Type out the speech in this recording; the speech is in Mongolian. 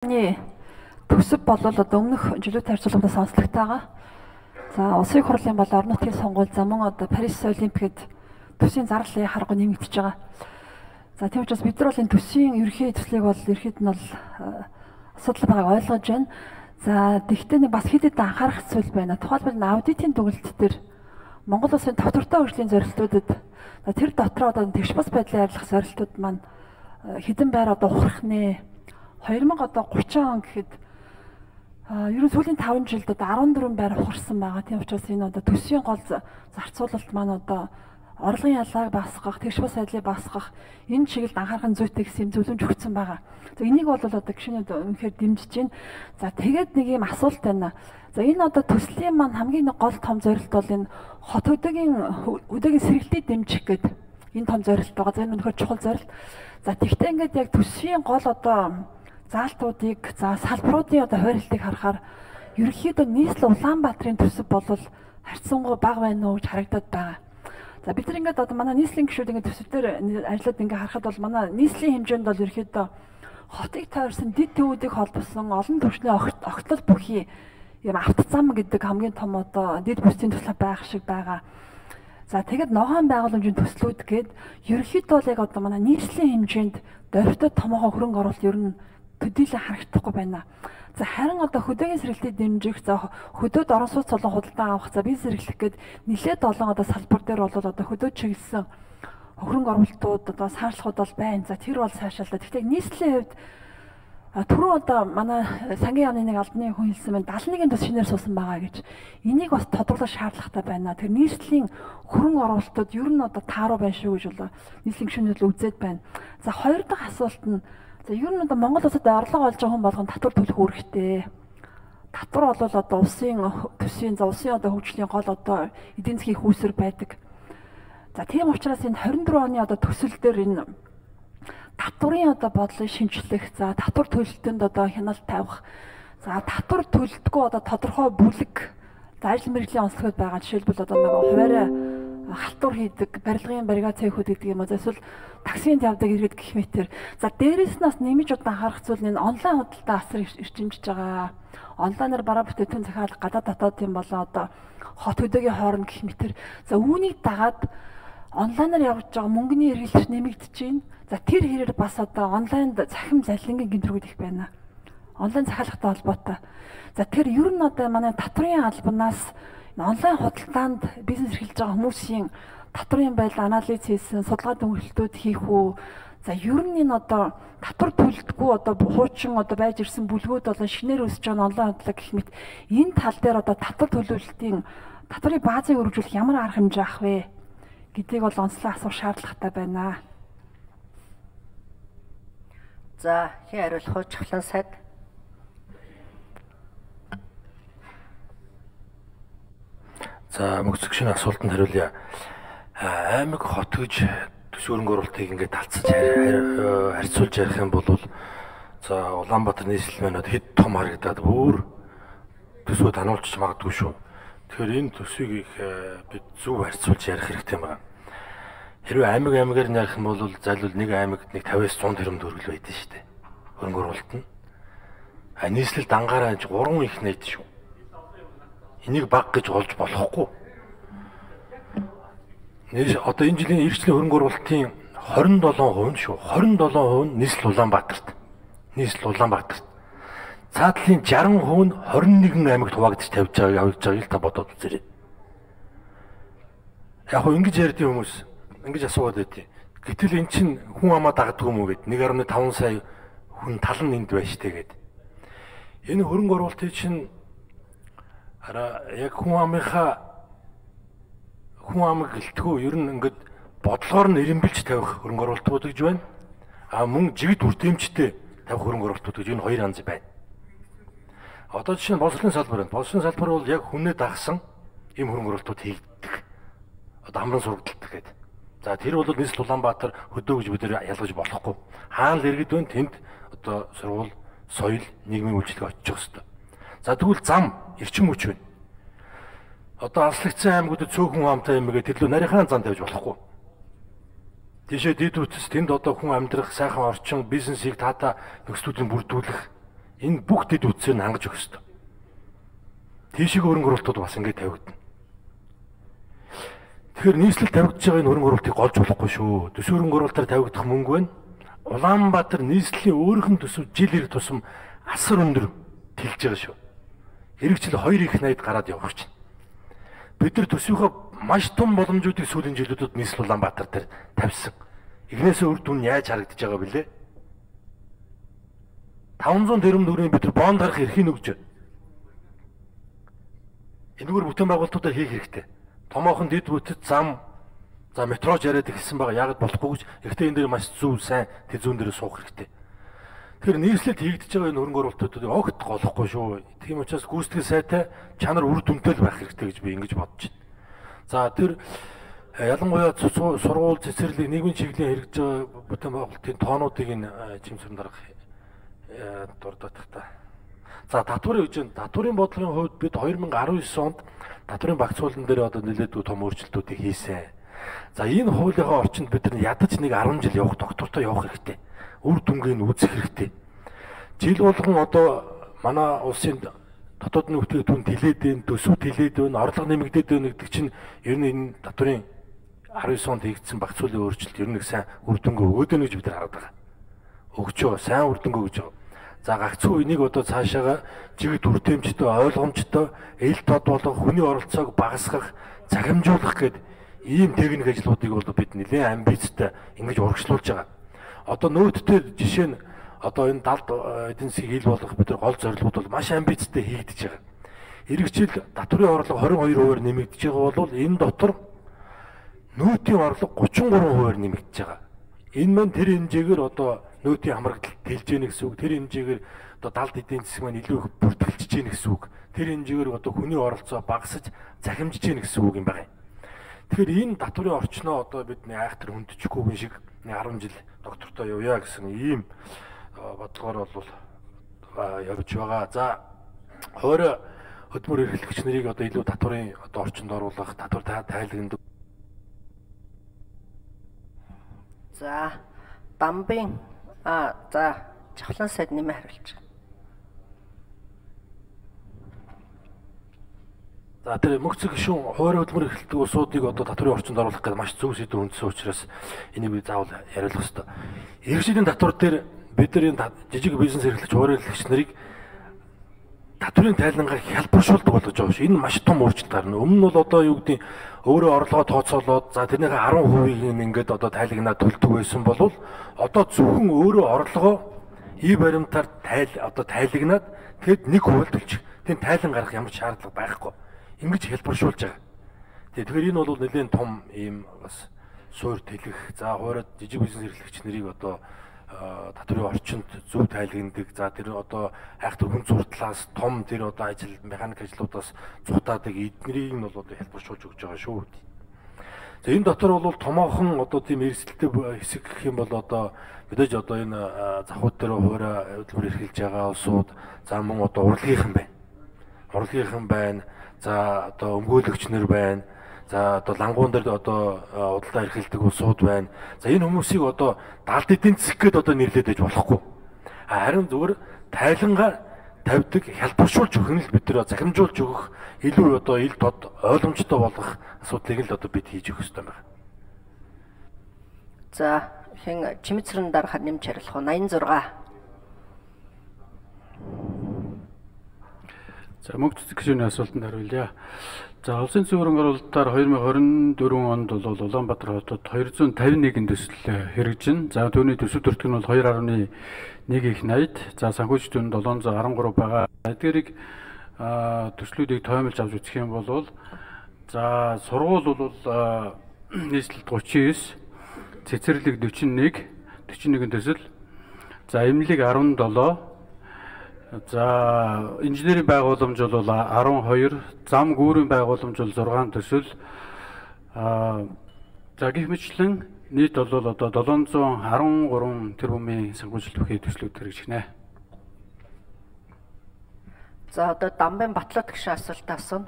Төсөв болол одоо өмнөх жилүүд харьцуулбал сонслогтойгоо. За улсын хурлын бол орон нутгийн сонгуул за мөн одоо Парис Олимпиад төсвийн зарлалын харгуу нэмэгдэж байгаа. За тийм учраас бид нар бол энэ төсвийн ерөнхий төслийг бол ерхэд нь бол асуудал байгааг ойлгож байна. За тэгвэл бас хэд хэдэн анхаарах зүйл байна. Тухайлбал аудитын дүгнэлт дээр Монгол улсын тогтвортой хөгжлийн зорилтуудад тэр дотроо одоо тэгш бас байдлын арилгах зорилтууд маань хэдэн байр одоо ухрах нэ 2030 он гэхэд ерөн сүүлийн 5 жилд одоо 14 байр ухарсан байгаа. Тийм учраас энэ одоо төсвийн гол зарцуулалт маань одоо орлогын ялгааг багасгах, тэгш бас байдлыг багасгах энэ чиглэлд анхаарах зүйтэй гэсэн зөвлөмж өгсөн байгаа. За энийг бол одоо гишүүнүүд үнэхээр дэмжиж байна. За тэгээд нэг юм асуулт байна. За энэ одоо төслийн маань хамгийн гол том зорилт бол энэ хот хөдөөгийн сэргэлтийг дэмжих гэдэг энэ том зорилт байгаа. За энэ үнэхээр чухал зорилт. За тэгтээ ингээд яг төсвийн гол одоо заалтуудыг за салбаруудын одоо хойролтыг харахаар ерөнхийдөө нийслэл Улаанбаатарын төсөв бол харьцангуй бага байна уу гэж харагдаад байгаа. За бид нар ингээд одоо манай нийслэлийн гишүүд ингээд төсөв дээр ажиллаад ингээд харахад бол манай нийслэлийн хэмжээнд бол ерөнхийдөө хотыг тойрсон дэд төвүүдийг холбосон олон түвшний огтлол бүхий юм автозам гэдэг хамгийн том одоо дэд бүсийн төсөл байх шиг байгаа. За тэгэд ногоон байгууламжийн төслүүд гээд ерөнхийдөө бол яг одоо манай нийслэлийн хэмжээнд дөрвтөд томоохон хөрөнгө оруулалт ер нь төдийлөн харагдахгүй байна. За харин одоо хөдөөгийн сэргэлтийг дэмжих, за хөдөөд орон сууц болон худалдаа авах, за бизнес эрхлэх гээд нэлээд олон одоо салбар дээр бол одоо хөдөөд чиглэсэн хөрөнгө оруулалтууд одоо саашлахууд бол байна. За тэр бол сайшаалаа. Гэхдээ нийслэлийн хувьд түрүү одоо манай сангийн яамны нэг албаны хүн хэлсэн байна. 71-ийн төс шинээр суусан байгаа гэж. Энийг бас тодруулах шаардлагатай байна. Тэр нийслэлийн хөрөнгө оруулалтууд ер нь одоо тааруу байна шүү гэж болоо нийслэлийн гишүүнүүд л үзээд байна. За хоёр дахь асуулт нь за ер нь одоо Монгол улсад орлого олж байгаа хүн болгон татвар төлөх үүрэгтэй. Татвар бол одоо улсын төсвийн за улсын одоо хөгжлийн гол одоо эдийн засгийн хүүсэр байдаг. За тийм учраас энэ 24 оны одоо төсөл дээр энэ татварын одоо бодлыг шинжлэх, за татвар төлөлтөнд одоо хяналт тавих, за татвар төлөлтгүй одоо тодорхой бүлэг за ажил мэргэжлийн онцлогуд байгаа. Жишээлбэл одоо нэг хуваарай халтур хийдэг, барилгын баррикад гэдэг юм уу. Эсвэл таксинд явдаг иргэд гэх мэтэр. За дээрээс нь бас нэмж удаан анхаарах зүйл нь онлайн худалдаа асар ирчимжиж байгаа. Онлайнаар бараа бүтээгдэхүүн захиалга гадаад дотоодын болоо одоо хот хөдөөгийн хооронд гэх мэтэр. За үүнийг дагаад онлайнаар явж байгаа мөнгөний эргэлт нэмэгдэж байна. За тэр хэрээр бас одоо онлайнд захим залингийн гинтрүүд их байна. Онлайн захиалгатай холбоотой. За тэр ер нь одоо манай татварын албанаас онлайн худалдаанд бизнес эрхэлж байгаа хүмүүсийн татварын байдал анализ хийсэн, судалгаа дүгнэлтүүд хийх үү. За ер нь энэ одоо татвар төлөлтгүй одоо хуучин одоо байж ирсэн бүлгүүд болон шинээр өсөж байгаа онлайн худлаа гэх мэт энэ тал дээр одоо татвар төлөвлөлтийн татварын баазыг өргөжүүлэх ямар арга хэмжээ авах вэ гэдгийг бол онцлог асуух шаардлагатай байна. За хэн хариулах вэ? Чухлан сайд. За мөцөг шинэ асуултанд хариулъя. Аймаг хот гэж төсөв хөрөнгө оруулалтыг ингээд талцаж харьцуулж ярих юм бол за Улаанбаатар нийслэл маань хэд том харагдаад бүр төсвөө таниулж магадгүй шүү. Тэгэхээр энэ төсвийг их бид зөв харьцуулж ярих хэрэгтэй юм байна. Хэрвээ аймагаар ярих юм бол зайлшгүй нэг аймагт нэг 50-аас 100 тэрбум төгрөг байдаг шүү дээ. Хөрөнгө оруулалт нь. Нийслэл дангаараа 3 их найд шүү. Энийг баг гэж олж болохгүй. Одоо энэ жилийн эрхчлэн хөрөнгө оруулалтын 27% шүү. 27% нь нийслэл Улаанбаатарт. Нийслэл Улаанбаатарт. Цаадлын 60% нь 21 аймагт хуваагдаж тавьж байгааг та бодоод үзээрэй. Яг хөө ингэж ярьдیں۔ Хүмүүс ингэж асууад байдیں۔ Гэтэл эн чинь хүн амаа дагдаг юм уу гэд 1.5 сая хүн тал нь энд байж штэ гэд. Энэ хөрөнгө оруулалтыг чинь яг хүн амыг гэлтгүү ер нь ингээд бодлогоор нь ирэмбэлж тавих хөрөнгө оруулалтууд гэж байна. Мөн жигд үрдэмжтэй тавих хөрөнгө оруулалтууд гэж энэ хоёр янз байна. Одоо жишээ нь боловсролын салбар байна. Боловсролын салбар бол яг хүнээ дагсан ийм хөрөнгө оруулалтууд хийгддэг. Одоо хамран сургалталт гэдэг. За тэр бол нийслэл Улаанбаатар хөдөө гэж бид нар ялгаж болохгүй. Хаана л иргэд байна тэнд одоо сургууль, соёл, нийгмийн үйлчлэг очиж байгаа хэвээр. За тэгвэл зам, эрчим хүч байна. Одоо авслагдсан аймагуудад цөөхөн хамтай юм гээд тэрлүү нарийнхаа зам тавьж болохгүй. Тийшээ дэд үтс тэнд одоо хүн амьдрах сайхан орчин, бизнесийг таата нөхцөлүүдийг бүрдүүлэх Энэ бүх дэд үтсээр нь хангаж өгөх ёстой. Тийшээ хөрөнгө оруулалтууд бас ингэ тавигдана. Тэгэхээр нийслэл тавигдж байгаа энэ хөрөнгө оруулалтыг голж болохгүй шүү. Төсөв хөрөнгө оруулалтаар тавигдах мөнгө байна. Улаанбаатар нийслэлийн өөрийнх нь төсөв жил ирэх тусам асар өндөр тэлж байгаа шүү. Хэрэгжил 2 их 80-д гараад явах чинь. Бид нар төсвийнхөө маш том боломжуудыг сүүлийн жилүүдэд нийслэл Улаанбаатар дээр тавьсан. Игнээс үр дүн яаж харагдаж байгаа бэлээ? 500 тэрбум төгрөгийн бид нар бонд гарах эрхийг өгч байна. Энэгээр бүтээн байгуулалтуудаар хийх хэрэгтэй. Томоохон дэд бүтэц зам за метрож яриад ихсэн байгаа. Яг болохгүй гэж. Гэхдээ энэ дээр маш зөв сайн тэр зүүн дээр суух хэрэгтэй. Тэгэхээр нийслэлд хийгдэж байгаа энэ хөрөнгө оруулалтуудыг огт голохгүй шүү. Тийм учраас гүйцэтгэх сайтай чанар үр дүнтэй л байх хэрэгтэй гэж би ингэж бодож байна. За тэр ялангуяа сургууль цэцэрлэг нийгмийн чиглэлийн хэрэгжиж байгаа бүтээн байгуулалтын тоонуудыг энэ жимсрэн дарах дурдах та. За татварын хэмжээнд татварын бодлогын хувьд бид 2019 онд татварын багцуулан дээр одоо нэлээдгүй том өөрчлөлтүүдийг хийсэн. За энэ хуулийнхаа орчинд бид нар ядаж нэг 10 жил явах доктортой явах хэрэгтэй. Үр дүнгийн үзэх хэрэгтэй. Жил болгон одоо манай улсын дотоодны бүтээгдэхүүн тэлээд байна, төсөв тэлээд байна, орлого нэмэгдээд байна гэдэг чинь ер нь энэ татварын 19 онд хийгдсэн багцуулын өөрчлөлт ер нь их сайн үр дүнгээ өгөөд байна гэж бид нар хараад байгаа. Өгчөө, сайн үр дүнгээ өгч байгаа. За гагцхүү энийг одоо цаашаага жигд үрдэмжтэй, ойлгомжтой, эл тод болгох, хүний оролцоог багасгах, захимжуулах гэдэг ийм техник ажлуудыг бол бид нэлээд амбицтай ингэж урагшлуулж байгаа. Одоо нөөдтэй жишээ нь одоо энэ далд эдийн засгийг ил болгох бид нар гол зорилгууд бол маш амбицтай хийгдэж байгаа. Эх жил татварын орлого 22% нэмэгдэж байгаа бол энэ дотор нөөтийн орлого 33% нэмэгдэж байгаа. Энэ маань тэр хэмжээгээр одоо нөөтийн хамрагдалт тэлж яах гэсэн үг. Тэр хэмжээгээр одоо далд эдийн засаг маань илүү их бүртгэлж яах гэсэн үг. Тэр хэмжээгээр одоо хүний оролцоо багасж захимжиж яах гэсэн үг юм байна. Тэгэхээр энэ татварын орчноо одоо бидний айхтар хүндчихгүйгэн шиг 10 жил доктортой явъя гэсэн ийм бодлогоор бол явж байгаа. За хойроо хөдөлмөр эрхлэгч нарыг одоо илүү татварын одоо орчинд оруулах, татвар тайлагнад. За Дамбын за Жавхлан сайд нэмээ хариулж байгаа. За тэр мөнхцөг гишүүн хойроо хөдөлмөр эрхлэлтийн улсуудыг одоо татварын орчинд оруулах гэдэг маш зөв сэдв хүндсэн учраас энийг би заавал яриулах ёстой. Иргэшлийн татвар дээр бид нар энэ жижиг бизнес эрхлэгч хойроо эрхлэгч нарыг татварын тайлангаар хялбаршуулдаг болгож байгаа шүү. Энэ маш том өөрчлөлт гарна. Өмнө нь бол одоо юу гэдэг өөрөө орлогоо тооцоолоод за тэрнийхээ 10%-ийг ингээд одоо тайлагнаад төлдөг байсан бол одоо зөвхөн өөрөө орлогоо ий баримтаар одоо тайлагнаад тэгэд 1% төлчих. Тэнд тайлан гарах ямар ч шаардлага байхгүй. Ингэж хялбаршуулж байгаа. Тэгэхээр энэ бол нэлээд том ийм бас суур тэлэх за хуурай жижиг бизнес эрхлэгч нарыг одоо татварын орчинд зөв тайлагнадаг. За тэр одоо айхтар хүн зурдлаас том тэр одоо ажил механик ажлуудаас цухтаадаг эднэрийг нь бол одоо хялбаршуулж өгч байгаа шүү. За энэ дотор бол томоохон одоо тийм эрсдэлтэй хэсэг гэх юм бол одоо мэдээж одоо энэ завхууд дээр хуурай хөдөлмөр эрхэлж байгаа улсууд за мөн одоо урлагийнхан байна. Урлагийнхан байна. За одоо өмгөөлөгч нар байна. За одоо лангуун дээр одоо худалдаа эрхэлдэг улсууд байна. За энэ хүмүүсийг одоо далд эдийн засаг гэдээ одоо нэрлээд байж болохгүй. Харин зөвхөн тайлангаар тавьдаг хялбаршуулж өгөх нь л бид нэр захимжуулж өгөх илүү одоо ил тод ойлгомжтой болгох асуудлыг л одоо бид хийж өгөх ёстой байна. За хэн чимэцрэн дарахад нэмж хариулах уу? 86. За мөнгө гишүүний асуултанд хариулъя. За улсын зүйн хөрөнгө оруулалтаар 2024 онд бол Улаанбаатар хотод 251 төсөл хэрэгжин. За түүний төсөв төртг нь бол 2.1 их 80. За санхүүжилтийн 713 байгаа. Эдгээрийг төслүүдийг тоомлж авч үзэх юм бол за сургууль бол нийслэлд 39, цэцэрлэг 41 төсөл. За эмнэлэг 17. За инженерийн байгууламж бол 12, зам гүүрийн байгууламж бол 6 төсөл. За гэх мэтлэн нийт бол одоо 713 тэрбумын санхүүжилт бүхий төслүүд хэрэгжинэ. За одоо Дамбын Батлаад гişүн асуулт асууна.